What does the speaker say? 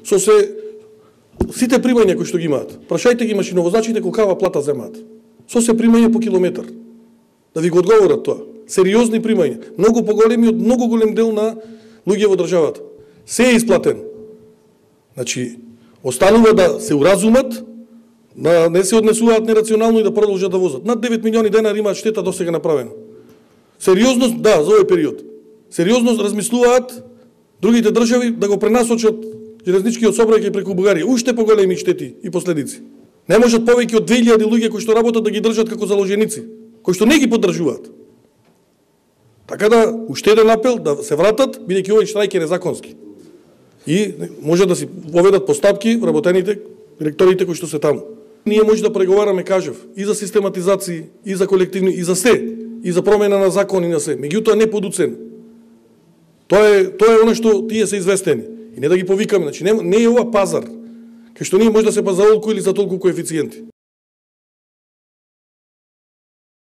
Со сите примања кои што ги имаат. Прашајте ги машиновозачите колкава плата земаат. Со се примања по километар. Да ви го одговорат тоа. Сериозни примања, многу поголеми од многу голем дел на луѓе во државата. Се е исплатено. Значи, останува да се уразумат, да не се однесуваат нерационално и да продолжат да возат. Над 9 милиони денари имаат штета досега направено. Сериозно, да, за овој период. Сериозно размислуваат другите држави да го пренасочат железничкиот сообраќај преку Бугарија. Уште поголеми штети и последици. Не можат повеќе од 2000 луѓе кои што работат да ги држат како заложеници, кои што не ги поддржуваат. Така да, уште еден апел да се вратат, бидејќи овој штрајк е незаконски. И може да си поведат постапки вработените директорите кои што се таму. Ние може да преговараме, кажав, и за систематизација, и за колективни, и за се, и за промена на закони на се. Меѓутоа не под уцена. Тоа е оно што тие се известени. И не да ги повикаме, значи не е ова пазар, кај што ние може да се пазаролку или за толку коефициенти.